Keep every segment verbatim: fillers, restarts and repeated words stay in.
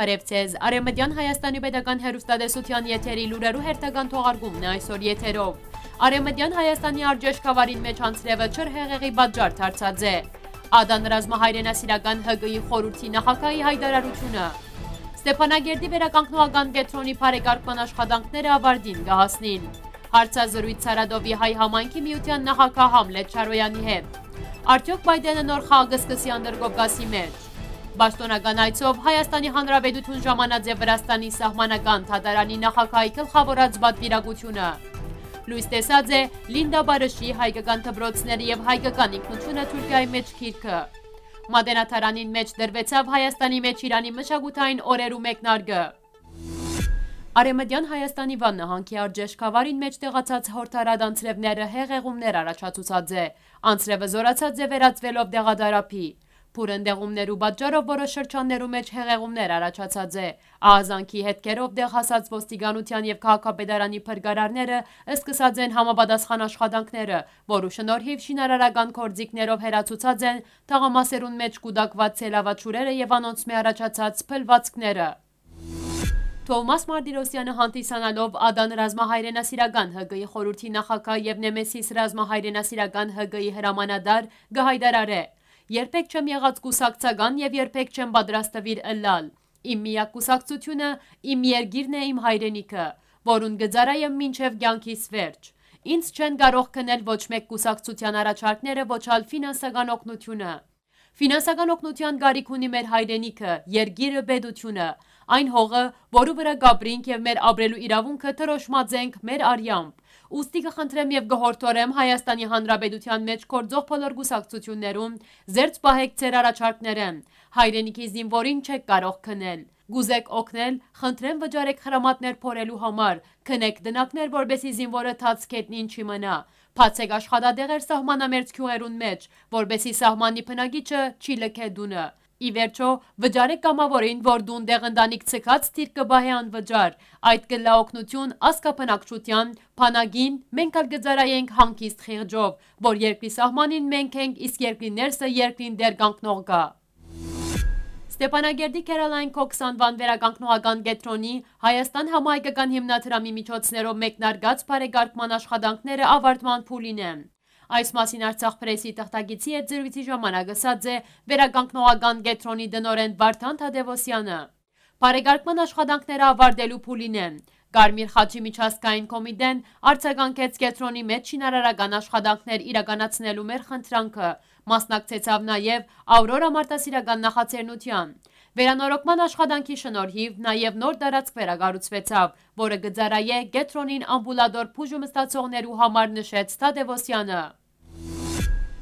Բարեւ ձեզ։ Արեւմտեան Հայաստանի պետական հեռուստատեսութեան եթերի լուրերու հերթական թողարկումն է այսօր եթերով։ Արեւմտեան Հայաստանի արժեշկավարին մէջ անձրեւը չոր հեղեղի պատճառ դարձած է։ Ադան ռազմահայրենասիրական Հ Կ-ի խորհրդի նախագահի հայտարարությունը։ Ստեփանագերդի վերականգնողական կեդրոնի բարեկարգման աշխատանքները ավարտին կը հասնին։ Հարցազրոյց Սարատովի հայ համայնքի միութեան նախագահ Համլետ Չարոյանի հետ։ Արդյոք Պայտենը նոր խաղ կը սկսի Անդրկովկասի մէջ։ Պաշտօնական այցով Հայաստանի Հանրապետութիւն ժամանած է Վրաստանի սահմանական դատարանի նախագահի գլխաւորած պատուիրակութիւնը։ Լոյս տեսած է Լինդա Բարըշի հայկական դպրոցները եւ հայկական ինքնութիւնը Թուրքիայի մէջ գիրքը։ Մատենադարանին մէջ դրուեցաւ Հայաստանի մէջ Իրանի մշակութային օրերու մեկնարկը։ Արեւմտեան Հայաստանի Վան նահանգի արժեշկավարին մէջ տեղացած յորդարատ անձրեւները հեղեղումներ առաջացուցած է։ Անձրեւը զօրացած է վերածուելով դեղադարափի։ Բուռն դեղումներու պատճառով որոշ շրջաններու մէջ հեղեղումներ առաջացած է։ Ահազանգի հետքերով տեղ հասած ոստիկանութեան եւ քաղաքապետարանի փրկարարները սկսած են համապատասխան աշխատանքները, որու շնորհիվ շինարարական գործիքներով հեռացուցած են թաղամասերուն մէջ կուտակուած սելավաչուրերը եւ անոնցմէ առաջացած փլուածքները։ Թովմաս Մարտիրոսյանը հանդիսանալով Ադան ռազմահայրենասիրական Հ Կ-ի խորհրդի նախագահ եւ Նեմեսիս ռազմահայրենասիրական Հ Կ-ի հրամանատար կը հայտարարէ. «Երբեք չեմ եղած կուսակցական եւ երբեք չեմ պատրաստվիր ըլլալ։ Իմ միակ կուսակցությունը իմ երկիրն է, իմ հայրենիքը, որուն կը ծառայեմ մինչեւ կեանքիս վերջ։ Ինձ չեն կարող քնել ոչ մէկ կուսակցութեան առաջարկները, ոչ ալ ֆինանսական օգնությունը։ Ֆինանսական օգնութեան կարիք ունի մեր հայրենիքը, երկիրը, պետությունը, այն հողը, որու վրայ կ'ապրինք եւ մեր ապրելու իրաւունքը դրոշմած ենք մեր արեամբ։ Ուստի կը խնդրեմ եւ կը յորդորեմ Հայաստանի Հանրապետութեան մէջ գործող բոլոր կուսակցութիւններուն, զերծ պահէք ձեր առաջարկներէն։ Հայրենիքի զինուորին չեք կարող քնել։ Կ'ուզեք օգնել, խնդրեմ վճարեք խրամատներ փորելու համար, քնեք տնակներ, որպէսզի զինուորը թաց գետնին չի մնայ։ Բացեք աշխատատեղեր սահմանամերձ գիւղերուն մէջ, որպէսզի սահմանի բնակիչը չի լքէ տունը։ Ի վերջո, վճարեք կամաւորին, որ տուն տեղ ընտանիք ցկած թիրք կը պահէ անվճար։ Այդ կ'ըլլայ օգնութիւն ազգաբնակչութեան, բանակին, մենք ալ կը ծառայենք հանգիստ խիղճով, որ երկրի սահմանին մենք ենք, իսկ երկրի ներսը երկրին տեղ կանգնող կայ»։ Ստեփանագերդի Քերալայն Քոքս անուան վերականգնողական կեդրոնի Հայաստան համահայկական հիմնադրամի միջոցներով մեկնարկած բարեկարգման աշխատանքները ավարտման փուլին են։ Այս մասին Արցախ Պրեսի թղթակիցի հետ զրոյցի ժամանակ ըսած է վերականգնողական կեդրոնի տնօրէն Վարդան Թադեւոսյանը։ Բարեկարգման աշխատանքները ավարտելու փուլին են։ Կարմիր խաչի միջազգային կոմիտեն արձագանքեց կեդրոնի մէջ շինարարական աշխատանքներ իրականացնելու մեր խնդրանքը, մասնակցեցաւ նաեւ Աուրորա մարդասիրական նախաձեռնութեան։ Վերանորոգման աշխատանքի շնորհիվ նաեւ նոր տարածք վերակառուցուեցաւ, որը կը ծառայէ կեդրոնին ամբուլատոր բուժում ստացողներու համար, նշեց Թադեւոսյանը։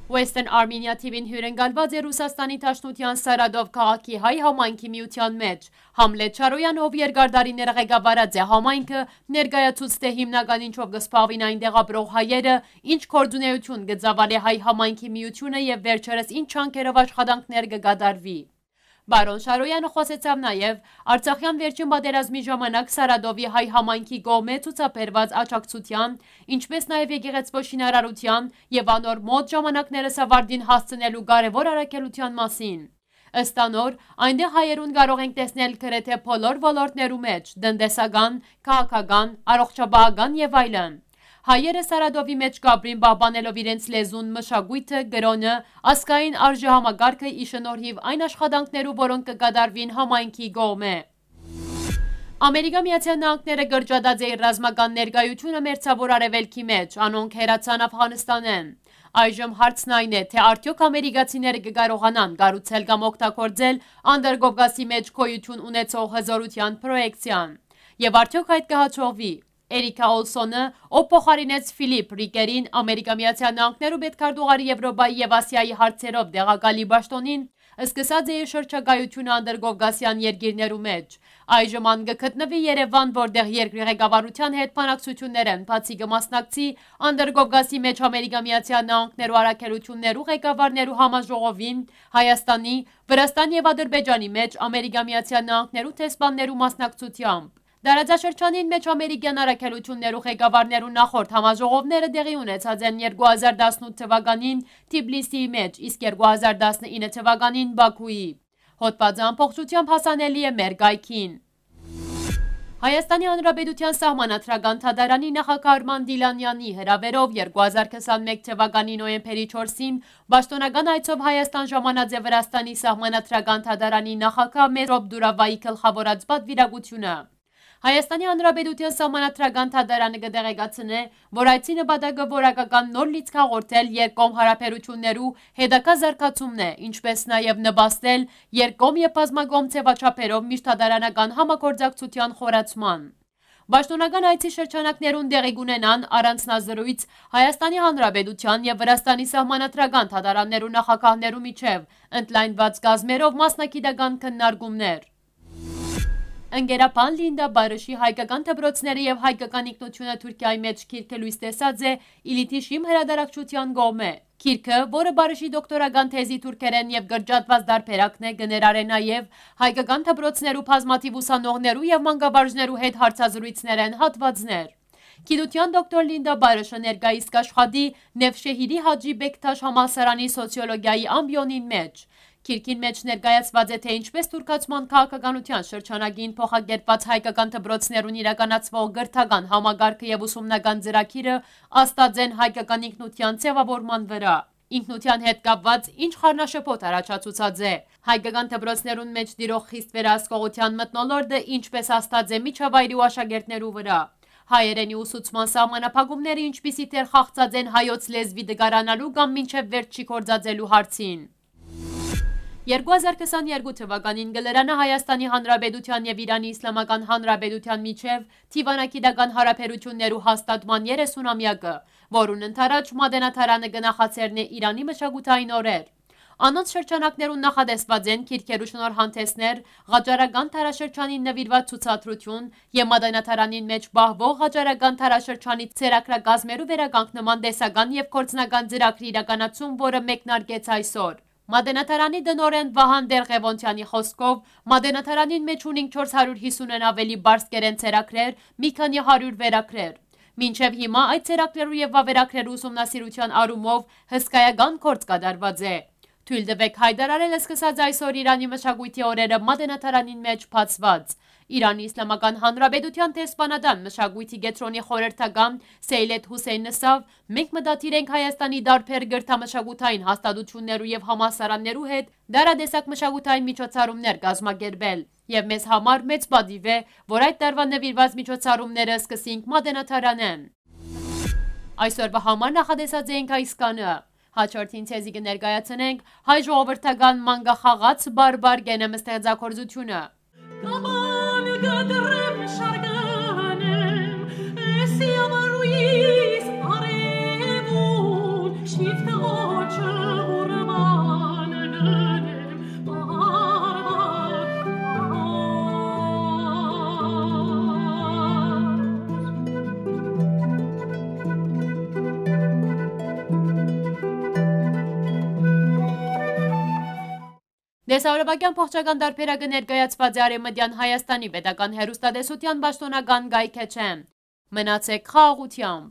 Western Armenia T V-ին հիւրընկալուած է Ռուսաստանի Դաշնութեան Սարատով քաղաքի հայ համայնքի միութեան մէջ։ Համլետ Չարոյանը, ով երկար տարիներ ղեկավարած է համայնքը, ներկայացուց, թէ հիմնական ինչով կը զբաղուին այնտեղ ապրող հայերը, ինչ գործունեութիւն կը ծաւալէ հայ համայնքի միութիւնը եւ վերջերս ինչ ջանքերով աշխատանքներ կը կատարուի։ Պարոն Շարոյանը խօսեցաւ նաեւ Արցախեան վերջին պատերազմի ժամանակ Սարատովի հայ համայնքի կողմէ ցուցաբերուած աջակցութեան, ինչպէս նաեւ եկեղեցւոյ շինարարութեան եւ անոր մօտ ժամանակներս ավարտին հասցնելու կարեւոր առաքելութեան մասին։ Ըստ անոր, այնտեղ հայերուն կարող ենք տեսնել գրեթէ բոլոր ոլորտներու մէջ՝ տնտեսական, քաղաքական, առողջապահական եւ այլն։ Հայերը Սարատովի մէջ կ'ապրին՝ պահպանելով իրենց լեզուն, մշակոյթը, կրօնը, ազգային արժեհամակարգը՝ ի շնորհիվ այն աշխատանքներու, որոնք կը կատարուին համայնքի կողմէ։ Ամերիկա Միացյալ Նահանգները կրճատած է իր ռազմական ներկայությունը Մերձաւոր Արեւելքի մէջ, անոնք հեռացան Աֆղանստանէն։ Այժմ հարցն այն է, թէ արդյոք ամերիկացիները կը կարողանան կառուցել կամ օգտագործել Անդրկովկասի մէջ գոյութիւն ունեցող հզօրութեան պրոյեկցիան։ Եւ արդյոք այդ կը հաջողվի։ Էրիքա Օլսոնը, ով փոխարինեց Ֆիլիպ Ռիկերին, Ամերիկա Միացյալ Նահանգներու պետքարտուղարի Եվրոպայի եւ Ասիայի հարցերով տեղակալի պաշտօնին, սկսած է իր շրջագայութիւնը Անդրկովկասեան երկիրներու մէջ։ Այժմ ան կը գտնուի Երեւան, որտեղ երկրի ղեկավարութեան հետ բանակցութիւններէն բացի կը մասնակցի Անդրկովկասի մէջ Ամերիկա Միացյալ Նահանգներու առաքելութիւններու ղեկավարներու համաժողովին, Հայաստանի, Վրաստանի եւ Ադրբեջանի մէջ Ամերիկա Միացյալ Նահանգներու դեսպաններու մասնակցությամբ։ Տարածաշրջանին մէջ ամերիկեան առաքելութիւններու ղեկավարներու նախորդ համաժողովները տեղի ունեցած են երկու հազար տասնութ թվականին Թիբլիսիի մէջ, իսկ երկու հազար տասնինը թվականին՝ Բաքուի։ Հոդվածը ամբողջությամբ հասանելի է մեր կայքին։ Հայաստանի Հանրապետութեան Սահմանադրական Դատարանի նախագահ Արման Դիլանյանի հրաւերով երկու հազար քսանմեկ թվականի նոյեմբերի չորսին պաշտօնական այցով Հայաստան ժամանած է Վրաստանի Սահմանադրական Դատարանի նախագահ Մերոպ Դուրավայի գլխաւորած պատուիրակութիւնը։ Հայաստանի Հանրապետութեան Սահմանադրական Դատարանը կը տեղեկացնէ, որ այցի նպատակը որակական նոր լիցք հաղորդել երկկողմ յարաբերութիւններու հետագայ զարգացումն է, ինչպէս նաեւ նպաստել երկկողմ եւ բազմակողմ ձեւաչափերով միջդատարանական համագործակցութեան խորացման։ Պաշտօնական այցի շրջանակներուն տեղի կունենան առանձնազրոյց Հայաստանի Հանրապետութեան եւ Վրաստանի Սահմանադրական Դատարաններու նախագահներու միջեւ ընդլայնուած կազմերով մասնագիտական քննարկումներ։ Ընկերապան Լինդա Բարըշի հայկական դպրոցները եւ հայկական ինքնութիւնը Թուրքիայի մէջ գիրքը լոյս տեսած է Իլիթիշիմ հրատարակչութեան կողմէ։ Գիրքը, որը Բարըշի դոկտորական թեզի թուրքերէն եւ կրճատուած դարբերակն է, կը ներառէ նաեւ հայկական դպրոցներու բազմաթիւ ուսանողներու եւ մանկավարժներու հետ հարցազրոյցներէն հատուածներ։ Գիտութեան դոկտոր Լինդա Բարըշը ներկայիս կ'աշխատի Նեվշեհիրի Հաճի Բեկթաշ համալսարանի սոցիոլոգիայի ամբիոնին մէջ։ Գիրքին մէջ ներկայացուած է, թե ինչպէս թուրքացման քաղաքականութեան շրջանակին փոխակերպուած հայկական դպրոցներուն իրականացուող կրթական համակարգը եւ ուսումնական ծրագիրը ազդած են հայկական ինքնութեան ձեւաւորման վրայ։ Ինքնութեան հետ կապուած ինչ խառնաշփոթ առաջացուցած է։ Հայկական դպրոցներուն մէջ տիրող խիստ վերահսկողութեան մթնոլորտը ինչպէս ազդած է միջավայրի ու աշակերտներու վրայ։ Հայերէնի ուսուցման սահմանափակումները ինչպիսի դեր խաղցած են հայոց լեզուի տկարանալու կամ մինչեւ վերջ չի գործածելու հարցին։ Երկու հազար քսաներկու թվականին կը լրանայ Հայաստանի Հանրապետութեան եւ Իրանի Իսլամական Հանրապետութեան միջեւ դիվանագիտական յարաբերութիւններու հաստատման երեսունամեակը, որուն ընդառաջ Մատենադարանը կը նախաձեռնէ Իրանի մշակութային օրեր։ Անոնց շրջանակներուն նախատեսուած են գիրքերու շնորհանդեսներ, ղաճարական դարաշրջանին նուիրուած ցուցադրութիւն եւ Մատենադարանին մէջ պահուող ղաճարական դարաշրջանի ցերակրակազմերու վերականգնման տեսական եւ գործնական ծրագրի իրականացում, որը մեկնարկեց այսօր։ Մատենադարանի տնօրէն Վահան Տեր-Ղեւոնթեանի խօսքով, Մատենադարանին մէջ ունինք չորս հարիւր հիսունէն աւելի պարսկերէն ցերակրեր, մի քանի հարիւր վերագրեր։ Մինչեւ հիմա այդ ցերակրերու եւ վավերագրերու ուսումնասիրութեան առումով հսկայական գործ կատարուած է։ Թոյլ տուէք յայտարարել սկսած այսօր Իրանի մշակոյթի օրերը Մատենադարանին մէջ բացուած։ Իրանի Իսլամական Հանրապետութեան դեսպանատան մշակոյթի կեդրոնի խորհրդական Սեյլեդ Հուսեյնը ասաւ, մենք մտադիր ենք Հայաստանի տարբեր կրթամշակութային հաստատութիւններու եւ համալսարաններու հետ տարատեսակ մշակութային միջոցառումներ կազմակերպել, եւ մեզ համար մեծ պատիւ է, որ այդ տարուան նուիրուած միջոցառումները սկսենք Մատենադարանէն։ Այսօրվա համար նախատեսած էինք այսքանը։ Հաջորդին ձեզի կը ներկայացնենք հայ ժողովրդական մանկախաղաց բարբար կենեմ ստեղծագործութիւնը։ Կապան կտրեմ, շարկանեմ, էս յամառուիս արևուն, շիֆտ ղոչը ուրման գնեմ, բարբար։ Տեսահոլովակեան փոխջական տարբերակը ներկայացուած է Արեւմտեան Հայաստանի պետական հեռուստատեսութեան պաշտօնական կայքէջէն։ Մնացեք խաղաղութեամբ։